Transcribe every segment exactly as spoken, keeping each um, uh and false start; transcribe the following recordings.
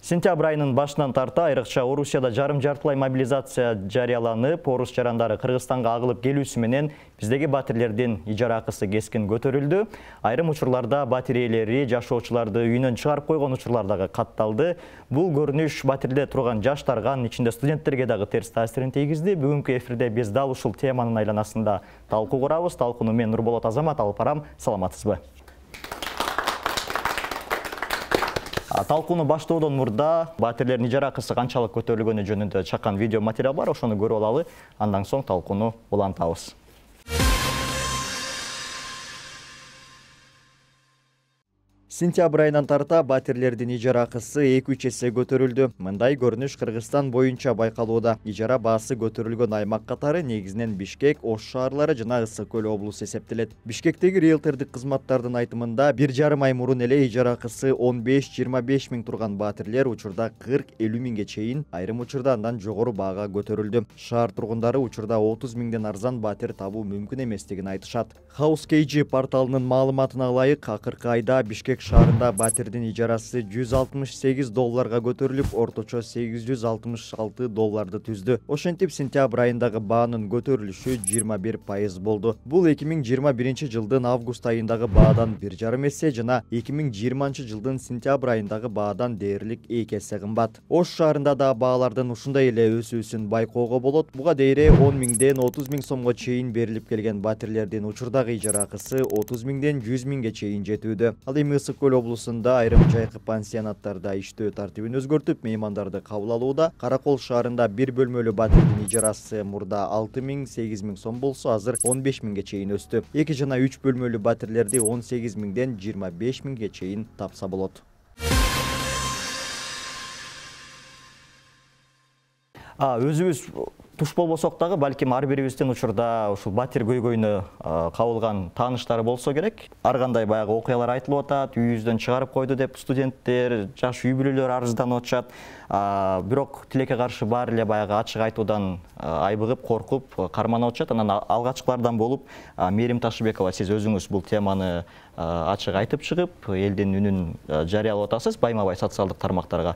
Сентябрь айынын башынан тарта айрыкча Орусияда жарым жартылай мобилизация жарыяланып, орус жарандары Кыргызстанга агылып келүүсү менен биздеги батирлердин ижара акысы кескин көтөрүлдү. Айрым учурларда батир ээлери жашоочуларды үйүнөн чыгарып койгон учурлар дагы катталды. Бул көрүнүш батирде турган жаштарга, анын ичинде студенттерге дагы терс таасирин тийгизди. Бүгүнкү эфирде биз дал ушул теманын айланасында талкуу курабыз. Талкууну мен Нурболот Азамат алып барам. Саламатсызбы? Талкууну баштоодон мурда батирлердин ижара акысы канчалык көтөрүлгөнү жөнүндө чакан видео материал бар, ошону көрүп алалы. Андан соң талкууну улантабыз. Сентябрь айынан тарта батирлердин ижара акысы эки үч эсе көтөрүлдү. Мындай көрүнүш Кыргызстан боюнча байкалууда. Ижара баасы көтөрүлгөн аймак катары негизинен Бишкек, Ош шаарлары жана Ысык көл облусу эсептелет. Бишкектеги риэлтордук кызматтардын айтымында бир жарым ай мурун эле ижара акысы он беш жыйырма беш миң турган батирлер учурда кырк элүү миңге чейин, айрым учурда андан жогору баага көтөрүлдү. Шаар тургундары учурда отуз миңден арзан батир табуу мүмкүн эместигин айтышат. House K G порталынын маалыматына ылайык, акыркы айда Бишкек шаарында батирдин ижарасы жүз алтымыш сегиз долларга көтөрүлүп, орточо сегиз жүз алтымыш алты долларды түздү. Ошентип, сентябрь айындагы баанын көтөрүлүшү жыйырма бир пайыз болду. Бул эки миң жыйырма биринчи жылдын август айындагы баадан бир жарым эсе жана эки миң жыйырманчы жылдын сентябрь айындагы баадан дээрлик эки эсе кымбат. Ош шаарында да баалардын ушундай эле өсүүсүн байкоого болот. Буга дейре он миңден отуз миң сомго чейин берилип келген батирлердин учурдагы ижара акысы отуз миңден жүз миңге чейин жетүүдө. Ал эми Ысык көл облусунда айрым жайкы пансионаттарда иштөө тартибин өзгөртүп, меймандарды кабыл алууда. Каракол шаарында бир бөлмөлүү батирдин ижарасы мурда алты миң сегиз миң сом болсо, азыр он беш миңге чейин өстү. эки жана үч бөлмөлүү батирлерди он сегиз миңден жыйырма беш миңге чейин тапса болот. А, өзүбүз туш болбосок дагы, балким ар бирибиздин учурда ушул батир көйгөйүнө кабылган тааныштары болсо керек. Ар кандай баягы окуялар айтылып атат, үйүбүздөн чыгарып койду деп студенттер, жаш үй бүлөлөр арызданып атышат. Бирок тилекке каршы баары эле баягы ачык айтуудан айбыгып, коркуп, карманып атышат. Анан алгачкылардан болуп Мээрим Ташыбекова, сиз өзүңүз бул теманы ачык айтып чыгып, элдин үнүн жарыялап атасыз байма-бай социалдык тармактарга.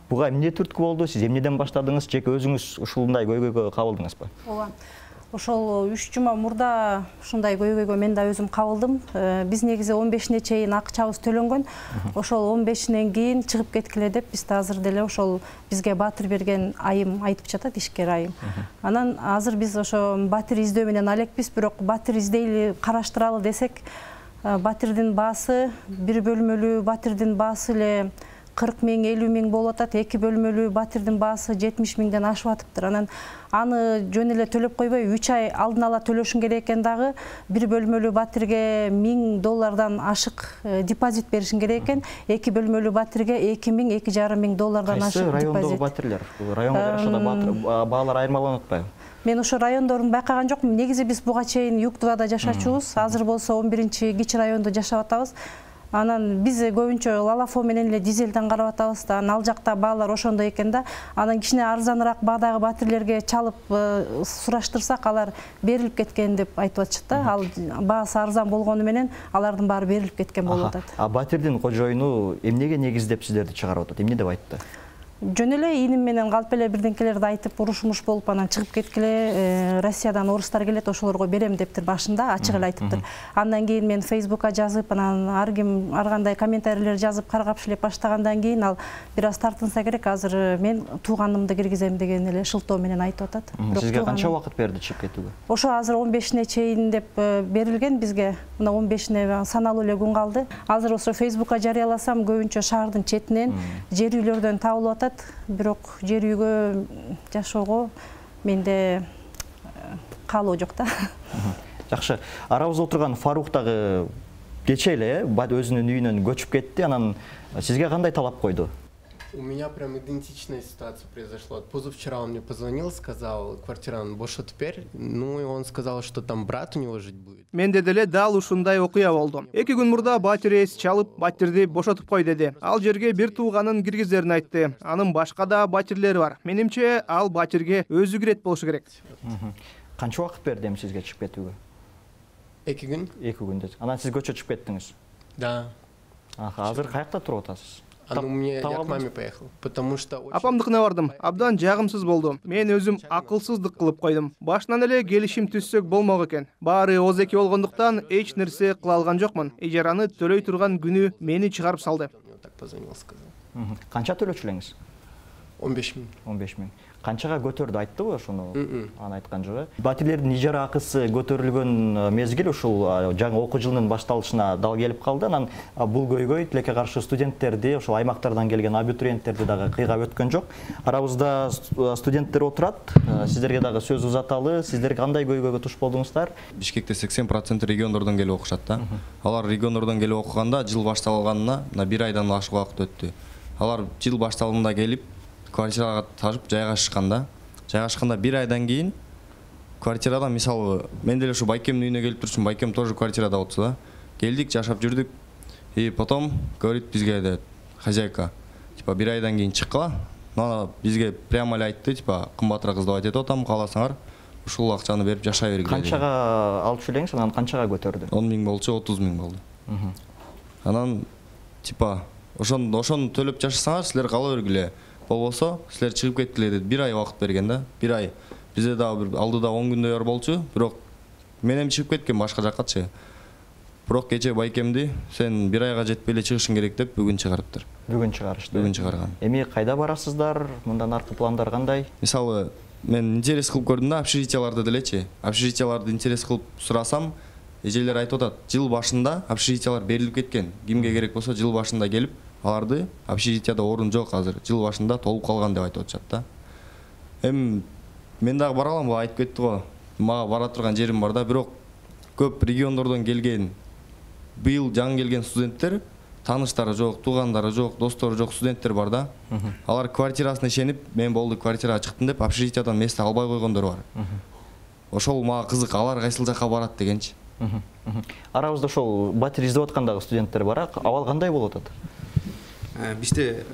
Буга эмне түрткү болду? Сиз эмнеден баштадыңыз? Жеке өзүңүз ушундай көйгөйгө кабылдыңызбы? Ооба. Ошол үч жума мурда ушундай көйгөйгө мен да өзүм кабылдым. Биз негизи он бешине чейин акчабыз төлөнгөн. Ошол он бешинен кийин чыгып кеткиле деп биз да азыр деле ошол бизге батир берген айым айтып жатат, ишкер айым. Анан азыр биз ошо батир издөө менен алекпиз, бирок батир издейли, караштыралы десек, батирдин баасы, бир бөлмөлүү батирдин баасы эле кырк миң, элүү миң болуп атат, эки бөлмөлүү батирдин баасы жетимиш миңден ашып атыптыр. Анан аны жөн эле төлөп койбой, үч ай алдын ала төлөшүң керек экен дагы, бир бөлмөлүү батирге миң доллардан ашык депозит беришиң керек экен, эки бөлмөлүү батирге эки миң, эки жарым миң доллардан ашык депозит. Кайсы райондогу батирлер? Районго жараша баалар айырмаланып атпайбы? Мен ошо райондорун байкаган жокмун. Негизи биз буга чейин Юктубада жашачубуз. Азыр болсо он биринчи кичи райондо жашап атабыз. Анан биз көбүнчө Лалафо менен эле Дизелден карап атабыз да, ал жакта баалар ошондой экен да. Анан кичине арзаныраак баадагы батирлерге чалып сураштырсак, алар берилип кеткен деп айтып атышат да. Ал баасы арзан болгону менен алардын баары берилип кеткен болуп атат. А батирдин кожоюну эмнеге негиздеп сиздерди чыгарып атат? Эмне деп айтты? Жөн эле иним менен калп эле бирденкелерди айтып, уруш-муш болуп, анан чыгып кеткиле, Россиядан орустар келет, ошолорго берем дептир башында, ачык эле айтыптыр. Андан кийин мен Фейсбукка жазып, анан ар ким ар кандай комментарийлер жазып, каргапшылеп баштагандан кийин ал бир аз тартынса керек, азыр мен тууганымды киргизем деген эле шылтоо менен айтып атат. Сизге канча убакыт берди чыгып кетүүгө? Ошо азыр он бешине чейин деп берилген бизге. Мына он бешине саналуу эле күн калды. Азыр ошо Фейсбукка жарыяласам, көбүнчө шаардын четинен, жер үйлөрдөн табылып атат. Бирок жер үйгө жашоого менде каалоо жок да. Жакшы. Арабызда отурган Фарук дагы кече эле өзүнүн үйүнөн көчүп кетти. Анан сизге кандай талап койду? У меня прям идентичная ситуация произошла. Позавчера он мне позвонил, сказал, квартираны бошот теперь. Ну и он сказал, что там брат у него жить будет. Менде деле дал ушундай окуя болду. эки күн мурда батир ээси чалып, батирди бошотуп кой деди. Ал жерге бир тууганын киргизерин айтты. Анын башка да батирлери бар. Менимче ал батирге өзү кирет болушу керек. Канча убакыт берди эми сизге чыгып кетүүгө? эки күн. эки күн деди. Анан сиз көчө чыгып кеттиңиз? Да. Азыр каякта туруп атасыз? А ну мне я к маме поехал, потому что апамдыкына бардым. Абдан жагымсыз болду. Мен өзүм акылсыздык кылып койдум. Башынан эле келишим түзсөк болмок экен. Баары ооз-эки болгондуктан эч нерсе кыла алган жокмун. Ижараны төлөй турган күнү мени чыгарып салды. Так позвонил, сказал. Канча төлөчү элеңиз? он беш миң. он беш миң. Канчага көтөрдү, айттыбы ошону? Аны айткан жок. Батирлердин ижара акысы көтөрүлгөн мезгил ушул жаңы окуу жылынын башталышына дал келип калды. Анан бул көйгөй тилекке каршы студенттерди, ошол аймактардан келген абитуриенттерди дагы кыйгап өткөн жок. Арабызда студенттер отурат. Сиздерге дагы сөз узаталы. Сиздер кандай көйгөйгө туш болдуңуздар? Бишкекте сексен процент региондордон келип окушат да. Алар региондордон келип окуганда жыл башталганына мына бир айдан ашык убакыт өттү. Алар жыл башталганда келип квартирага ташып жайгашканда, жайгашканда бир айдан кийин квартирадан, мисалы, мен деле ушу байкемдин үйүнө келип турчумун, байкем тоже квартирада отурду да. Келдик, жашап жүрдүк. И потом говорит бизге де хозяйка, типа бир айдан кийин чыккыла. Мына бизге прямо эле айтты, типа кымбатыраак сдавать этип атам, кааласаңар ушул акчаны берип жашай бергиле. Канчага алчу элеңиз, анан канчага көтөрдү? он миң болчу, отуз миң болду. Анан типа ошону ошону төлөп жашасаңар, силер кала бергиле. Болбосо силер чыгып кеткиле деп бир ай убакыт берген да. бир ай. Бизде дагы бир алдыда он күндөй бар болчу, бирок мен эми чыгып кеткем башка жаккачы. Бирок кече байкемди сен бир айга жетпей эле чыгышың керек деп бүгүн чыгарыптыр. Бүгүн чыгарышты. Бүгүн чыгарган. Эми кайда барасыздар? Мындан аркы пландар кандай? Мисалы, мен интерес кылып көрдүм да, общежитияларды делечи. Общежитияларды интерес кылып сурасам, эжелер айтып атат, жыл башында общежитиялар берилип кеткен. Кимге керек болсо жыл башында келип аларды общежитияда орун жок азыр. Жыл башында толуп калган деп айтып атышат да. Эми мен дагы бара алам, айтып кетти го. Мага бара турган жерим бар да, бирок көп региондордон келген, быйыл жаңы келген студенттер, тааныштары жок, туугандары жок, достору жок студенттер бар да. Алар квартирасына ишенип, мен болду квартирага чыктым деп общежитиядан месте албай койгондор бар. Ошол мага кызык, алар кайсыл жакка барат дегенчи. Арабызда ошол батир издеп аткандагы студенттер бар, абал кандай болуп атат? Бизде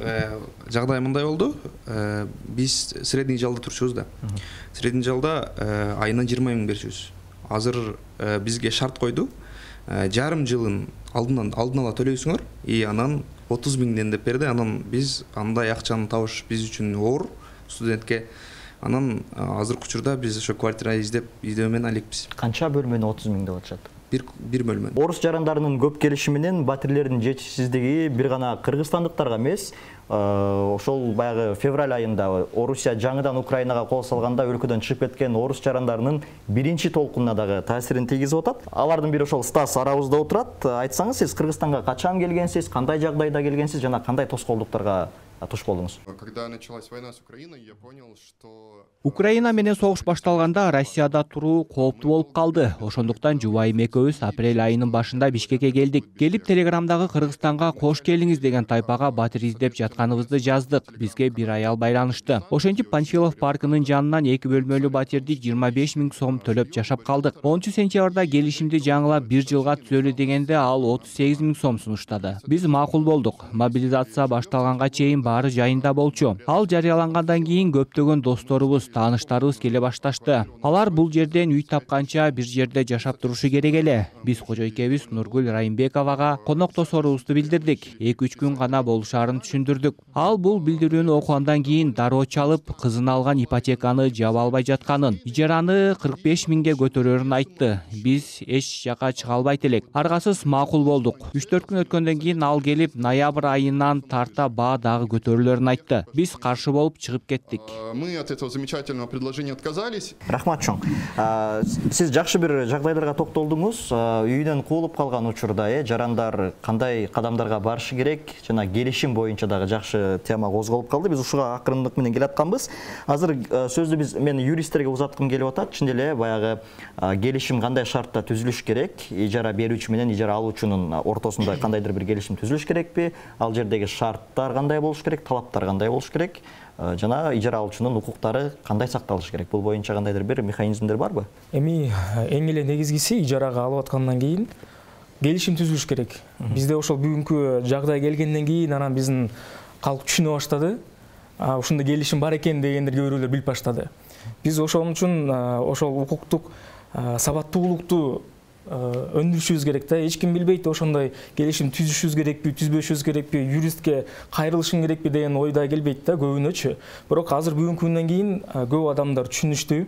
жагдай мындай болду. Биз средний жалда турчубуз да. Средний жалда айына жыйырма миң берчүбүз. Азыр бизге шарт койду. Жарым жылын алдынан алдын ала төлөйсүңөр, и анан отуз миңден деп берди. Анан биз андай акчаны табыш биз үчүн оор студентке. Анан азыркы учурда биз ошо квартира издеп, издөө менен алекпиз. Канча бөлмөнү отуз миң деп атышат? Бир бир бөлмө. Орус жарандарынын көп келиши менен батирлердин жетишсиздиги бир гана кыргызстандыктарга эмес, ошол баягы февраль айында Орусия жаңыдан Украинага кол салганда өлкөдөн чыгып кеткен орус жарандарынын биринчи толкунуна дагы таасирин тийгизип атат. Алардын бири ошол Стас арабызда отурат. Айтсаңыз, сиз Кыргызстанга качан келгенсиз, кандай жагдайда келгенсиз жана кандай тоскоолдуктарга туш болдуңуз? Когда началась война с Украиной, я понял, что Украина менен согуш башталганда Россияда туруу кооптуу болуп калды. Ошондуктан жубайым экөөбүз апрель айынын башында Бишкекке келдик. Келип Телеграмдагы Кыргызстанга кош келиңиз деген тайпага батир издеп жатканыбызды жаздык. Бизге бир аял байланышты. Ошентип Панчилов паркынын жанынан эки бөлмөлүү батирди жыйырма беш миң сом төлөп жашап калдык. онунчу сентябрда келишимди жаңылап бир жылга түзөлү дегенде ал отуз сегиз миң сом сунуштады. Биз макул болдук. Мобилизация башталганга чейин баары жайында болчу. Ал жарыялангандан кийин көптөгөн досторубуз, тааныштарыбыз келе башташты. Алар бул жерден үй тапканча бир жерде жашап турушу керек эле. Биз кожойкебиз Нургүл Райымбековага коноктосорубузду билдирдик. эки үч күн гана болушарын түшүндүрдүк. Ал бул билдирүүнү окугандан кийин дароо чалып, кызын алган ипотеканы жаба албай жатканын, ижараны кырк беш миңге көтөрөрүн айтты. Биз эч жака чыга албайт элек. Аргасыз макул болдук. үч төрт күн өткөндөн кийин ал келип, ноябрь айынан тарта баа дагы көтөрүлөрүн айтты. Биз каршы болуп чыгып кеттик. Мы от этого замечательного предложения отказались. Рахмат чоң. Сиз жакшы бир жагдайларга токтолдуңуз. Үйүнөн куулуп калган учурда жарандар кандай кадамдарга барышы керек жана келишим боюнча дагы жакшы тема козголуп калды. Биз ушуга акырындык менен келатканбыз. Азыр сөздү биз мен юристтерге узаткым келип атат. Чын эле баягы келишим кандай шартта түзүлүш керек? Ижара берүүчү менен ижара алуучунун ортосунда кандайдыр бир келишим түзүлүш керекпи? Ал жердеги шарттар кандай болуш керек? Талаптар кандай болуш керек? Жана ижара алуучунун укуктары кандай сакталышы керек? Бул боюнча кандайдыр бир механизмдер барбы? Эми эң эле негизгиси ижарага алып аткандан кийин келишим түзүлүш керек. Бизде ошол бүгүнкү жагдай келгенден кийин анан биздин калк түшүнө баштады. Ушундай келишим бар экен дегендер кээ бирөөлөр билип баштады. Биз ошон үчүн ошол укуктук сабаттуулукту өндүрүшүбүз керек да. Эч ким билбейт ошондой келишим түзүшүбүз керекпи, түзбөшүбүз керекпи, юристке кайрылышым керекпи деген ойда келбейт да көбүнөчү. Бирок азыр бүгүнкү күндөн кийин көп адамдар түшүнүштү.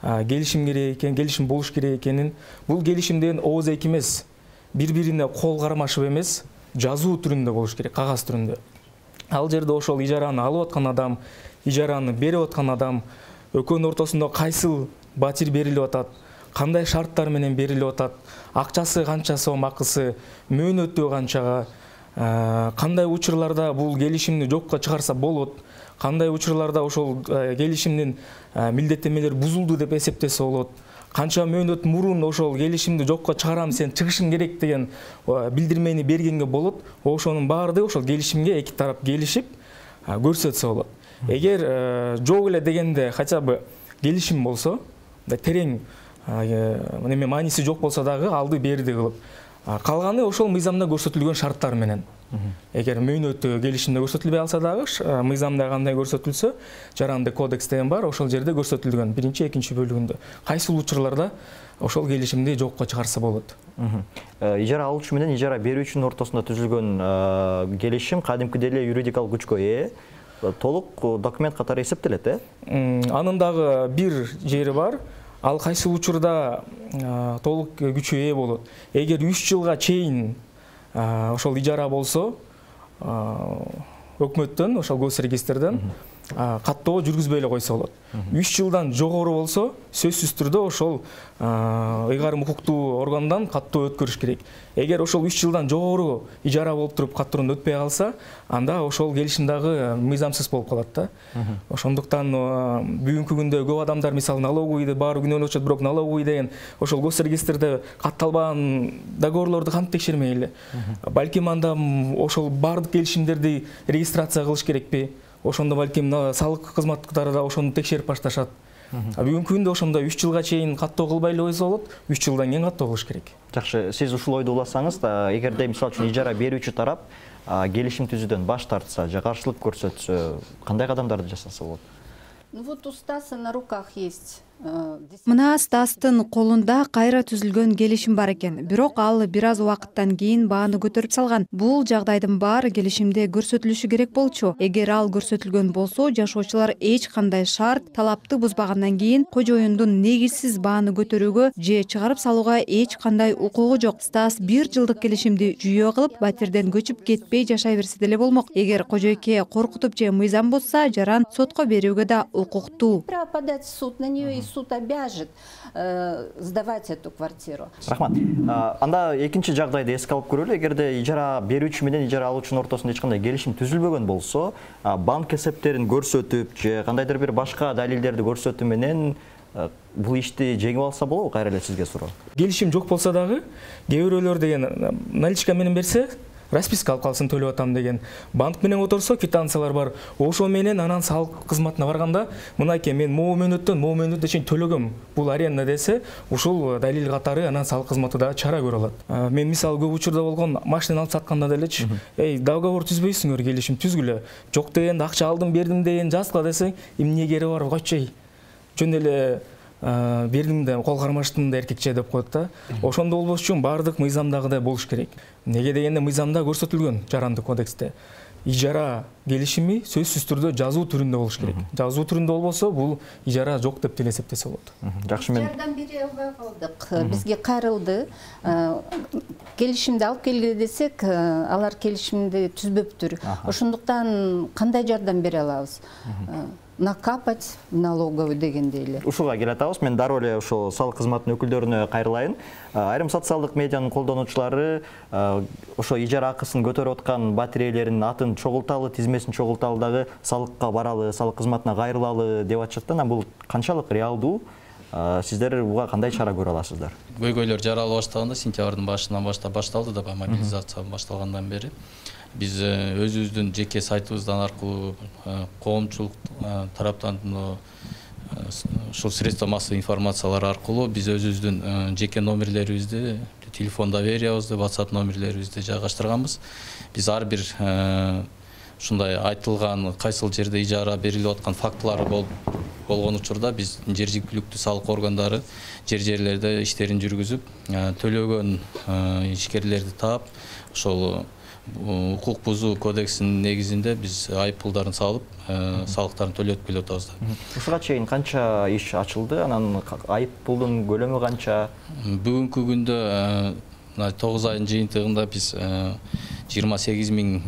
Келишим керек экен, келишим болуш керек экенин. Бул келишим деген ооз эки эмес, бири-бирине кол кармашып эмес, жазуу түрүндө болуш керек, кагаз түрүндө. Ал жерде ошол ижараны алып аткан адам, ижараны берип аткан адам, экөөнүн ортосунда кайсыл батир берилип атат, кандай шарттар менен берилип атат, акчасы канча сом акысы, мөөнөтү канчага, кандай учурларда бул келишимди жокко чыгарса болот, кандай учурларда ошол келишимдин милдеттенмелери бузулду деп эсептесе болот, канча мөөнөт мурун ошол келишимди жокко чыгарам, сен чыгышың керек деген билдирмени бергенге болот. Ошонун баардыгы ошол келишимге эки тарап келишип көрсөтсө болот. Эгер жок эле дегенде хотя бы келишим болсо, терең неме мааниси жок болсо дагы алды берди кылып, калганы ошол мыйзамда көрсөтүлгөн шарттар менен. Эгер мөөнөтү келишимде көрсөтүлбөй алса дагы, мыйзамда кандай көрсөтүлсө, жаранды кодекс деген бар, ошол жерде көрсөтүлгөн биринчи, экинчи бөлүгүндө. Кайсыл учурларда ошол келишимди жокко чыгарса болот. Ижара алуучу менен ижара берүүчүнүн ортосунда түзүлгөн келишим кадимкидей эле юридикалык күчкө ээ, толук документ катары эсептелет, э? Анын дагы бир жери бар. Ал кайсыл учурда толук күчкө ээ болот. Эгер үч жылга чейин ошол ижара болсо, өкмөттөн, ошол госрегистрден каттоо жүргүзбөй эле койсо болот. үч жылдан жогору болсо, сөзсүз түрдө ошол ыйгарым укуктуу органдан каттоо өткөрүш керек. Эгер ошол үч жылдан жогору ижара болуп туруп каттоону өтпөй калса, анда ошол келишим дагы мыйзамсыз болуп калат да. Ошондуктан бүгүнкү күндө көп адамдар мисалы налоговыйды баары күнөөлөп атышат, бирок налоговый деген ошол госрегистрде катталбаган договорлорду кантип текшермей эле. Балким анда ошол баардык келишимдерди регистрация кылыш керекпи? Ошондо балким салык кызматтары да ошону текшерип башташат. Бүгүнкү күндө ошондо үч жылга чейин каттоо кылбай эле койсо болот, үч жылдан кийин каттоо кылыш керек. Жакшы, сиз ушул ойду уласаңыз да, эгерде мисалы үчүн ижара берүүчү тарап келишим түзүүдөн баш тартса же каршылык көрсөтсө, кандай кадамдарды жасаса болот? Ну вот у Стаса на руках есть. Мына Стастын колунда кайра түзүлгөн келишим бар экен. Бирок ал бир аз убакыттан кийин бааны көтөрүп салган. Бул жагдайдын баары келишимде көрсөтүлүшү керек болчу. Эгер ал көрсөтүлгөн болсо, жашоочулар эч кандай шарт, талапты бузбагандан кийин кожоюндун негизсиз бааны көтөрүүгө же чыгарып салууга эч кандай укугу жок. Стас бир жылдык келишимди жүйө кылып, батирден көчүп кетпей жашай берсе деле болмок. Эгер кожойке коркутуп же мыйзам бузса, жаран сотко берүүгө да укуктуу. Право подать в суд на нее, и суд обяжет сдавать эту квартиру. Рахмат. Анда экинчи жагдайды эске алып көрөлү. Эгерде ижара берүүчү менен ижара алуучунун ортосунда эч кандай келишим түзүлбөгөн болсо, банк эсептерин көрсөтүп же кандайдыр бир башка далилдерди көрсөтүү менен бул ишти жеңип алса болобу? Кайра эле сизге суроо. Келишим жок болсо дагы, кээ бирөөлөр деген наличка менен берсе, расписка алып калсын төлөп атам деген. Банк менен оторсо квитанциялар бар. Ошо менен анан салык кызматына барганда, мынакей мен могу мөөнөттөн могу мөөнөткө чейин төлөгөм, бул аренда десе, ушул далил катары анан салык кызматы да чара көрө алат. Мен мисалы көп учурда болгон, машина алып сатканда делечи, эй, договор түзбөйсүңөр, келишим түзгүлө. Жок дегенде акча алдым, бердим деген жазгыла десең, эмне кереги бар, койчу. Жөн эле бердим да кол кармаштым да эркекче деп коет да. Ошондо болбош үчүн баардык мыйзамдагыдай болуш керек. Неге дегенде мыйзамда көрсөтүлгөн жаранды кодексте. Ижара келишими сөзсүз түрдө жазуу түрүндө болуш керек. Жазуу түрүндө болбосо, бул ижара жок деп деле эсептесе болот. Жакшы, мен Жардам бере албай калдык. Бизге кайрылды. Келишимди алып келгиле десек, алар келишимди түзбөптүр. Ошондуктан кандай жардам бере алабыз? Накапать налоговый дегендей эле. Ушуга келе атабыз. Мен дароо эле ошол салык кызматынын өкүлдөрүнө кайрылайын. Айрым социалдык медианын колдонуучулары ошо ижара акысын көтөрүп аткан батирейлердин атын чогулталы, тизмесин чогулталы дагы салыкка баралы, салык кызматына кайрылалы деп атышат да. Бул канчалык реалдуу? Сиздер буга кандай чара көрө аласыздар? Көйгөйлөр жаралып баштаганда сентябрдын башынан баштап башталды да, мобилизация башталгандан бери. Биз өзүбүздүн жеке сайтыбыздан аркылуу коомчулук тараптан ушул средства массовой информациялар аркылуу биз өзүбүздүн жеке номерлерибизди, телефон довериябызды, WhatsApp номерлерибизди жайгаштырганбыз. Биз ар бир ушундай айтылган кайсыл жерде ижара берилип аткан фактылар болуп болгон учурда биз жер жергиликтүү салык органдары жер жерлерде иштерин жүргүзүп, төлөгөн ишкерлерди таап, ошол укук бузуу кодексинин негизинде биз айып пулдарын салып, салыктарын төлөтүп келип атабыз да. Ушуга чейин канча иш ачылды? Анан айып пулдун көлөмү канча? Бүгүнкү күндө тогуз айдын жыйынтыгында биз жыйырма сегиз миңден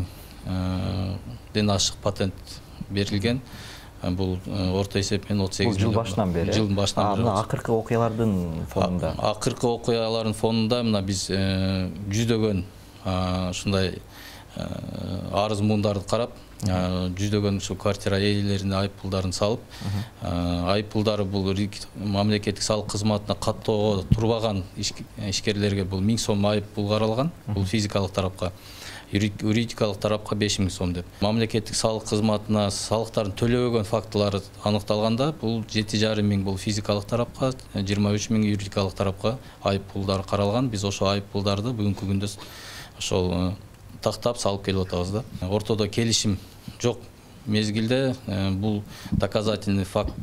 ашык патент берилген. Бул орто эсеп менен отуз сегиз жыл башынан бери. Жылдын башынан бери. Акыркы окуялардын фонунда. Акыркы окуялардын фонунда мына биз жүздөгөн ушундай арыз муундарды карап, жүздөгөн ушу квартира ээлерине айып пулдарын салып, айып пулдары бул мамлекеттик салык кызматына каттоого турбаган ишкерлерге бул миң сом айып пул каралган, бул физикалык тарапка. Юридикалык тарапка беш миң сом деп. Мамлекеттик салык кызматына салыктарын төлөбөгөн фактылары аныкталганда, бул жети жарым миң бул физикалык тарапка, жыйырма үч миң юридикалык тарапка айып пулдар каралган. Биз ошо айып пулдарды бүгүнкү күндө ошол тактап салып келип атабыз да. Ортодо келишим жок мезгилде бул доказательный факт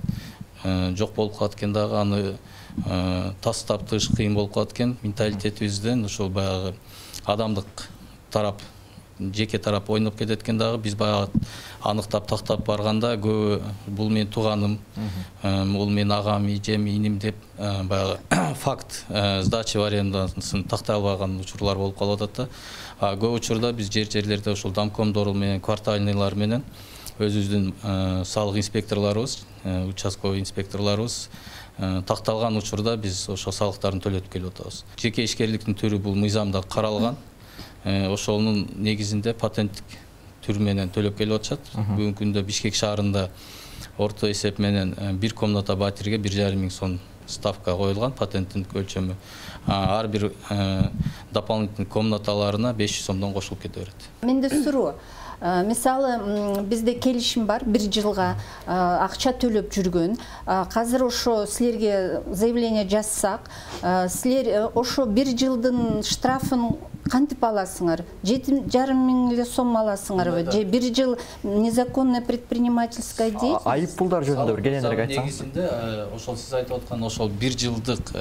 жок болуп калат экен дагы, аны тастап тыш кыйын болуп калат экен. Менталитетибизден ошол баягы адамдык тарап, жеке тарап ойноп кетет экен дагы. Биз баягы аныктап тактап барганда көбү бул менин тууганым, бул менин агам, ижем, иним деп баягы факт сдача в арендасын тактай албаган учурлар болуп калып атат да. Көп учурда биз жер жерлерде ошол домкомдор менен, квартальныйлар менен өзүбүздүн салык инспекторлорубуз, участковый инспекторлорубуз такталган учурда биз ошол салыктарын төлөтүп келип атабыз. Жеке ишкерликтин түрү бул мыйзамда каралган. Ошонун негизинде патенттик түр менен төлөп келип атышат. Бүгүнкү күндө Бишкек шаарында орто эсеп менен бир комната батирге бир жарым миң сом ставка коюлган, патенттин өлчөмү. Ар бир дополнительный комнаталарына беш жүз сомдон кошулуп кете берет. Менде суроо. Мисалы, бизде келишим бар, бир жылга акча төлөп жүргөн. Азыр ошо силерге заявление жазсак, силер ошо бир жылдын штрафын кантип аласыңар? жети жарым миң эле сом аласыңарбы? Же бир жыл незаконная предпринимательская деятельность? Айып пулдар жөнүндө бир кененирээк айтсаңыз. Негизинде ошол сиз айтып аткан ошол бир жылдык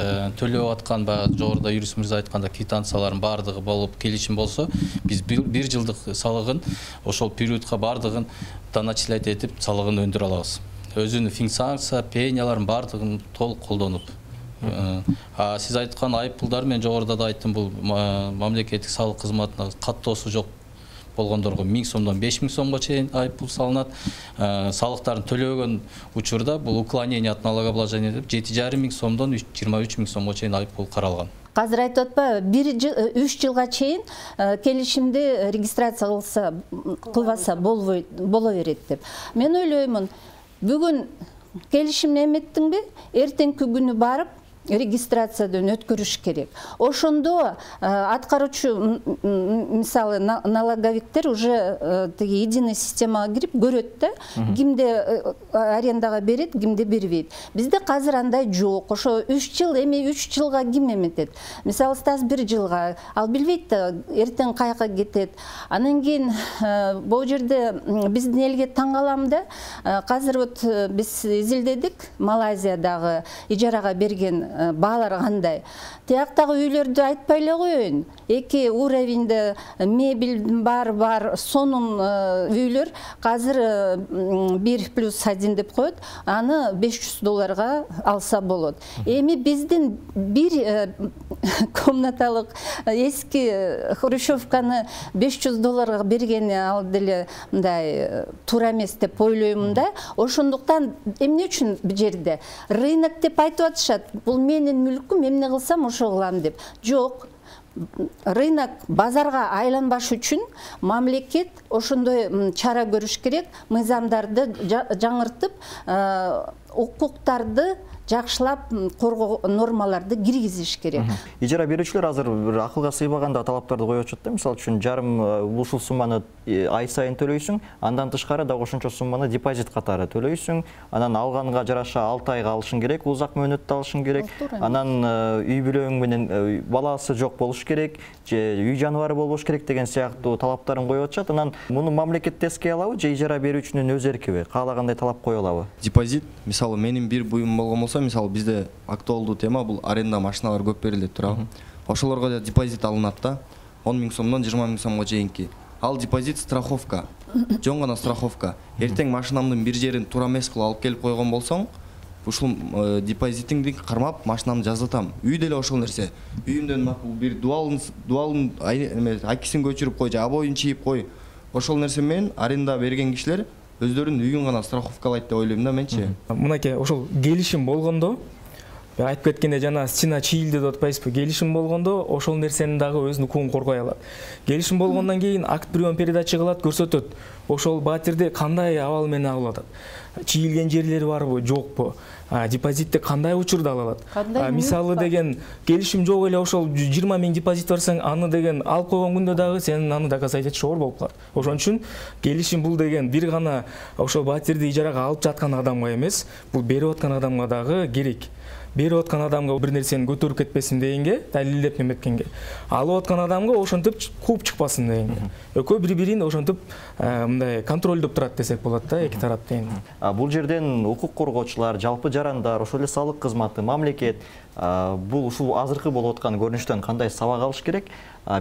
төлөп аткан баягы жогоруда юрист мырза айтканда квитанциялардын баардыгы болуп келишим болсо, биз бир жылдык салыгын ошол периодка баардыгын доначислять этип салыгын өндүрө алабыз. Өзүнүн фиксация, пенияларын баардыгын толук колдонуп. Сиз айткан айып пулдар мен жогоруда да айттым, бул мамлекеттик салык кызматына каттоосу жок болгондорго миң сомдон беш миң сомго чейин айып пул салынат. Салыктарын төлөбөгөн учурда бул уклонение от налогообложения деп жети жарым миң сомдон жыйырма үч миң сомго чейин айып пул каралган. Азыр айтып атпайбы, бир үч жылга чейин келишимди регистрация кылса, кылбаса боло берет деп. Мен ойлоймун, бүгүн келишимди эметтиңби, эртеңки күнү барып регистрациядан өткөрүш керек. Ошондо аткаруучу, мисалы, налоговиктер уже тиги единый системага кирип көрөт да, кимде арендага берет, кимде бербейт. Бизде азыр андай жок. Ошо үч жыл, эми үч жылга ким эметет? Мисалы, Стас бир жылга, ал билбейт да, эртең каяка кетет. Анан кийин бул жерде биздин элге таң калам да, азыр вот биз изилдедик, Малайзиядагы ижарага берген баалар кандай. Тияктагы үйлөрдү айтпай эле коеюн. Эки уровеньде мебель бар бар, сонун үйлөр азыр бир плюс один деп коет, аны беш жүз долларга алса болот. Эми биздин бир комнаталык эски хрущевканы беш жүз долларга бергени ал деле мындай туура эмес деп ойлоймун да. Ошондуктан эмне үчүн бул жерде рынок деп айтып атышат. Бул менин мүлкүм, эмне кылсам ошо кылам деп. Жок. Рынок базарга айланбаш үчүн мамлекет ошондой чара көрүш керек, мыйзамдарды жаңыртып, укуктарды жакшылап коргоо нормаларды киргизиш керек. Ижара берүүчүлөр азыр бир акылга сыйбаганда талаптарды коюп атышат да. Мисалы үчүн жарым ушул сумманы ай сайын төлөйсүң, андан тышкары дагы ошончо сумманы депозит катары төлөйсүң, анан алганга жараша алты айга алышың керек, узак мөөнөттө алышың керек. Анан үй бүлөң менен баласы жок болуш керек, же үй жаныбары болбош керек деген сыяктуу талаптарын коюп атышат. Анан муну мамлекет эске алабы же ижара берүүчүнүн өз эркиби? Каалагандай талап кое алабы? Депозит, мисалы мисалы менин бир буюм болгон болсо, мисалы бизде актуалдуу тема бул аренда машиналар көп берилет турабы. Ошолорго да депозит алынат да. он миң сомдон жыйырма миң сомго чейинки. Ал депозит страховка. Жон гана страховка. Эртең машинамдын бир жерин туура эмес кылып алып келип койгон болсоң, ушул депозитиңди кармап машинамды жаздатам. Үй деле ошол нерсе. Үйүмдөн макул бир дуалын дуалын акисин көчүрүп кой, же обоюн чийип кой. Ошол нерсе менен аренда берген кишилер өздөрүнүн үйүн гана страховкалайт деп ойлойм да менчи. Мынакей ошол келишим болгондо, айтып кеткенде жана стена чийилди деп атпайсызбы? Келишим болгондо ошол нерсени дагы өзүнүн укугун коргой алат. Келишим болгондон кийин акт прием передача кылат, көрсөтөт. Ошол батирди кандай абал менен ала алат? Чийилген жерлери барбы, жокпу? Депозитти кандай учурда ала алат? Мисалы деген келишим жок эле ошол жыйырма миң депозит барсаң, аны деген алып койгон күндө дагы сен аны доказать этиш оор болуп калат. Ошон үчүн келишим бул деген бир гана ошол батирди ижарага алып жаткан адамга эмес, бул берип аткан адамга дагы керек. Берип аткан адамга бир нерсени көтөрүп кетпесин дегенге, далилдеп неметкенге, алып аткан адамга ошентип кууп чыкпасын дегенге. Экөө бири-бирин ошентип мындай контролдоп турат десек болот да, эки тарап деген. Бул жерден укук коргоочулар, жалпы жарандар, ошол эле салык кызматы, мамлекет бул ушул азыркы болуп аткан көрүнүштөн кандай сабак алыш керек?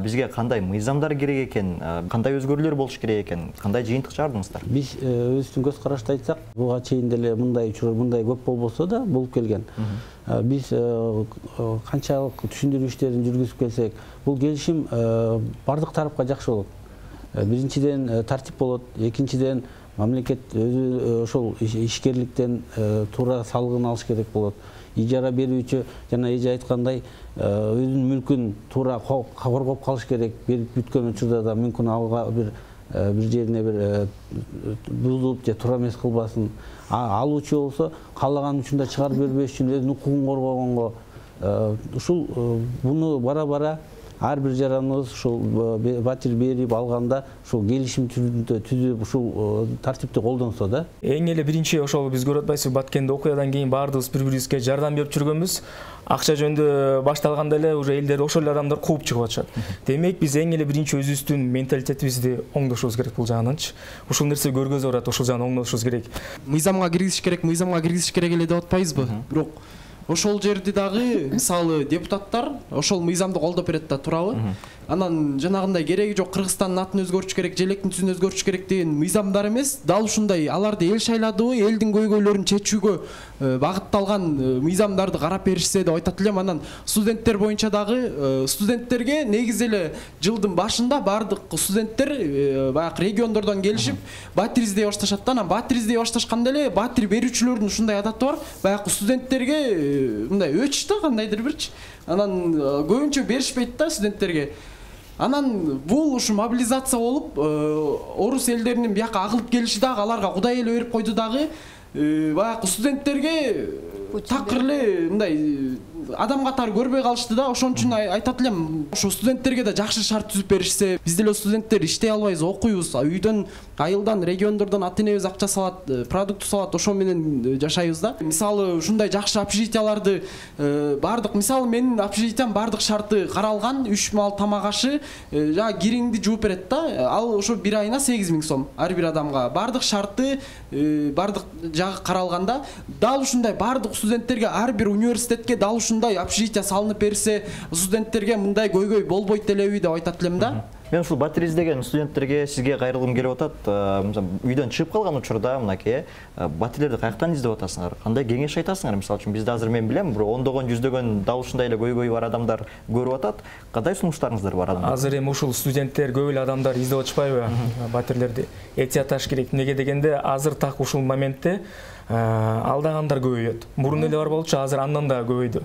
Бизге кандай мыйзамдар керек экен, кандай өзгөрүүлөр болуш керек экен, кандай жыйынтык чыгардыңыздар? Биз өзүбүздүн көз карашты айтсак, буга чейин деле мындай учур, мындай көп болбосо да болуп келген. Биз канчалык түшүндүрүү иштерин жүргүзүп келсек, бул келишим бардык тарапка жакшы болот. Биринчиден тартип болот, экинчиден мамлекет өзү ошол ишкерликтен туура салыгын алыш керек болот. Ижара берүүчү жана эже айткандай өзүнүн мүлкүн туура коргоп калыш керек. Берип бүткөн учурда да мүмкүн алга бир бир жерине бир бузулуп же туура эмес кылбасын. Алуучу болсо каалаган учурда чыгарып бербеш үчүн өзүнүн укугун коргогонго ушул буну бара-бара ар бир жараныбыз ушул батир берип алганда ушул келишим түрүндө түзүп ушул тартипти колдонсо да. Эң эле биринчи ошол биз көрүп атпайсызбы, Баткенде окуядан кийин баардыгыбыз бири-бирибизге жардам берип жүргөнбүз. Акча жөнүндө башталганда эле уже элдер ошол эле адамдар кууп чыгып атышат. Демек биз эң эле биринчи өзүбүздүн менталитетибизди оңдошубуз керек бул жагынанчы. Ушул нерсе көргөзүп атат, ошол жагын оңдошубуз керек. Мыйзамга киргизиш керек, мыйзамга киргизиш керек эле деп атпайбызбы? Бирок ошол жерди дагы мисалы депутаттар ошол мыйзамды колдоп берет да, туурабы? Анан жанагындай кереги жок Кыргызстандын атын өзгөртүш керек, желектин түсүн өзгөртүш керек деген мыйзамдар эмес, дал ушундай аларды эл шайладыбы, элдин көйгөйлөрүн чечүүгө багытталган мыйзамдарды карап беришсе деп айтат элем. Анан студенттер боюнча дагы студенттерге негизи эле жылдын башында бардык студенттер баягы региондордон келишип батир издей башташат да. Анан батир издей башташканда эле батир берүүчүлөрдүн ушундай адаты бар, баягы студенттерге мындай өч да кандайдыр бирчи. Анан көбүнчө беришпейт да студенттерге. Анан бул ушу мобилизация болуп, орус элдеринин бияка агылып келиши дагы аларга кудай эле берип койду дагы. Баягы студенттерге такыр эле мындай адам катары көрбөй калышты да. Ошон үчүн айтат элем, ошо студенттерге да жакшы шарт түзүп беришсе, биз деле студенттер иштей албайбыз, окуйбуз, үйдөн, айылдан, региондордон ата энебиз акча салат, продукт салат, ошо менен жашайбыз да. Мисалы ушундай жакшы общежитияларды бардык, мисалы менин общежитиям бардык шарты каралган, үч маал тамак ашы, жана кириңди жууп берет да. Ал ошо бир айына сегиз миң сом ар бир адамга. Бардык шарты, бардык жагы каралганда, дал ушундай бардык студенттерге, ар бир университетке дал ушундай общежития салынып берсе, студенттерге мындай көйгөй болбойт элеби деп айтат элем да. Мен ушул батир издеген студенттерге сизге кайрылгым келип атат. Үйдөн чыгып калган учурда мынакей батирлерди каяктан издеп атасыңар? Кандай кеңеш айтасыңар? Мисалы үчүн бизде азыр мен билем, бир ондогон, жүздөгөн дал ушундай эле көйгөйү бар адамдар көрүп атат. Кандай сунуштарыңыздар бар адамдар? Азыр эми ушул студенттер көп эле адамдар издеп атышпайбы батирлерди? Этияташ керек. Неге дегенде азыр так ушул моментте алдагандар көбөйөт. Мурун эле бар болчу, азыр андан да көбөйдү.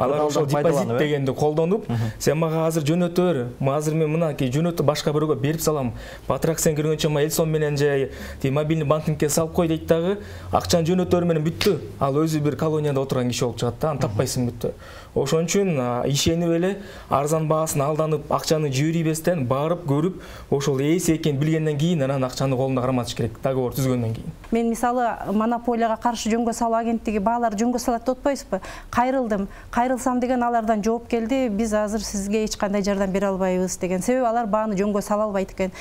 Алар ошол депозит дегенди колдонуп, сен мага азыр жөнөтө бер. Азыр мен мынакей жөнөтүп башка бирөөгө берип салам. Батыраак сен киргенче ма Элсон менен же мобильный банкингке салып кой дейт дагы, акчаны жөнөтө бер менен бүттү. Ал өзү бир колонияда отурган киши болуп чыгат да, аны таппайсың бүттү. ошон үчүн ишенип эле арзан баасын алданып акчаны жибербестен барып көрүп ошол ээси экенин билгенден кийин анан акчаны колунда карматыш керек, договор түзгөндөн кийин. Мен мисалы монополияга каршы жөнгө салуу агенттиги баалар жөнгө салат деп атпайбызбы? Кайрылдым. Кайрылсам деген алардан жооп келди. Биз азыр сизге эч кандай жардам бере албайбыз деген. Себеби алар бааны жөнгө сала албайт экен.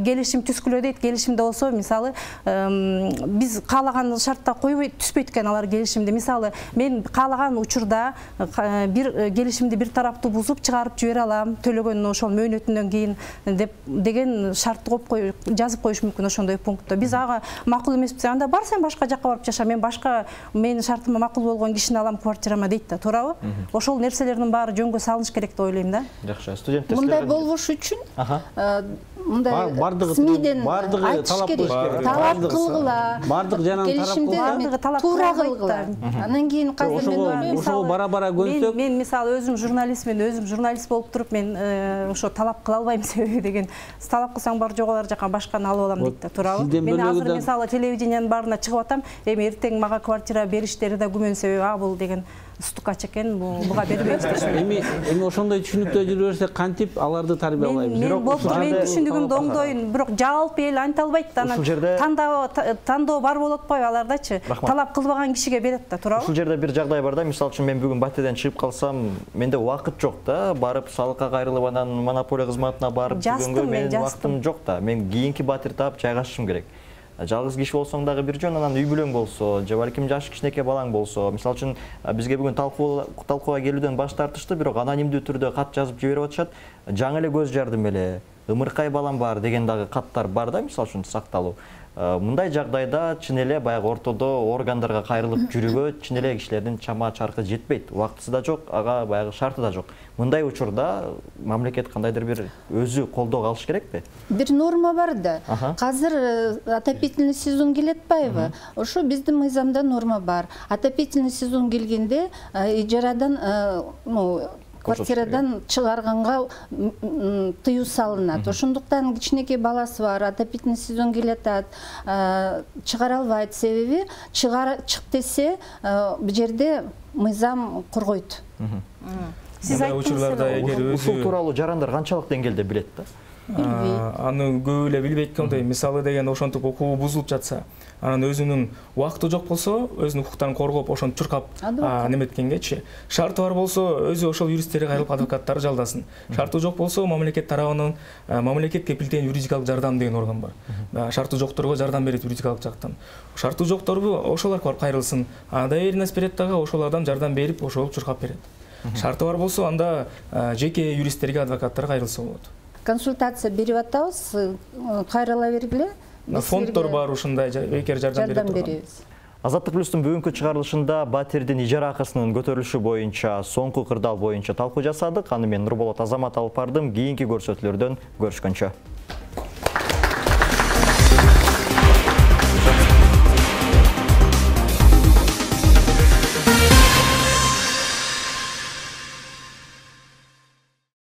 Келишим түзгүлө дейт. Келишимде болсо мисалы биз каалаган шартта койбой түспөйт экен алар келишимди. Мисалы мен каалаган учурда бир келишимди бир тараптуу бузуп чыгарып жибере алам, төлөгөн ошол мөөнөтүнөн кийин деп деген шартты коюп кой жазып коюш мүмкүн ошондой пунктта. Биз ага макул эмеспиз. Анда бар сен башка жакка барып жаша, мен башка менин шартыма макул болгон кишини алам квартирама дейт да, туурабы? Ошол нерселердин баары жөнгө салыныш керек деп ойлойм да. Жакшы, студенттер мындай болбош үчүн мындай СМИден айтыш керек, талап кылгыла, бардык жанагы келишимди туура кылгыла. Анан кийин казыр мен ошого бара-бара көнсөк, мен мисалы өзүм журналистмин, өзүм журналист болуп туруп мен ошо талап кыла албайм себеби деген. Талап кылсаң бар жок алар жака башканы алып алам дейт да, туурабы? Мен азыр мисалы телевидениянын баарына чыгып атам, эми эртең мага квартира бериштери да күмөн себеби а бул деген стукач экен, буга бербейбиз дешти. Эми эми ошондой түшүнүктө жүрө берсек кантип аларды тарбиялайбыз? Мен болуп мен түшүндүгүмдү оңдойн, бирок жалпы эл анта албайт да. Анан тандоо тандоо бар болуп атпайбы алардачы? Талап кылбаган кишиге берет да, туурабы? Ушул жерде бир жагдай бар да, мисалы үчүн мен бүгүн батирден чыгып калсам, менде убакыт жок да, барып салыкка кайрылып анан монополия кызматына барып жүргөнгө менин убактым жок да. Мен кийинки батир таап жайгашышым керек. Жалгыз киши болсоң дагы бир жөн, анан үй бүлөң болсо, же балким жаш кичинекей балаң болсо, мисалы үчүн бизге бүгүн талкууга келүүдөн баш тартышты, бирок анонимдүү түрдө кат жазып жиберип атышат. Жаңы эле көз жардым эле, ымыркай балам бар деген дагы каттар бар да, мисалы үчүн сакталуу. Мындай жагдайда чын эле баягы ортодо органдарга кайрылып жүрүүгө чын эле кишилердин чама чаркы жетпейт. Убактысы да жок, ага баягы шарты да жок. Мындай учурда мамлекет кандайдыр бир өзү колдоо алыш керекпи? Бир норма бар да. Казыр отопительный сезон келет атпайбы? Ошо биздин мыйзамда норма бар. Отопительный сезон келгенде ижарадан, ну, квартирадан чыгарганга тыюу салынат. Ошондуктан кичинекей баласы бар, отопительный сезон келет атат, чыгара албайт, себеби чык десе бул жерде мыйзам коргойт. Сиз айттыңыз, ушул тууралуу жарандар канчалык деңгээлде билет да? Билбейт. Аны көп эле билбейт экен. Мисалы деген ошентип укугу бузулуп жатса, анан өзүнүн убакыты жок болсо, өзүнүн укуктарын коргоп, ошону чуркап неметкенгечи. Шарты бар болсо, өзү ошол юристтери кайрылып адвокаттары жалдасын. Шарты жок болсо, мамлекет тарабынан мамлекет кепилдеген юридикалык жардам деген орган бар. Шарты жокторго жардам берет юридикалык жактан. Шарты жокторбу ошолорго барып кайрылсын. Доверенность берет дагы, ошолордон жардам берип, ошол чуркап берет. Шарты бар болсо, анда жеке юристтерге, адвокаттар кайрылса болот. Консультация берип атабыз, кайрыла бергиле. Фонддор бар ушундай бекер жардам берет. Азаттык плюстун бүгүнкү чыгарылышында батирдин ижара акысынын көтөрүлүшү боюнча соңку кырдаал боюнча талкуу жасадык. Аны мен Нурболот Азамат алып бардым. Кийинки көрсөтүүлөрдөн көрүшкөнчө.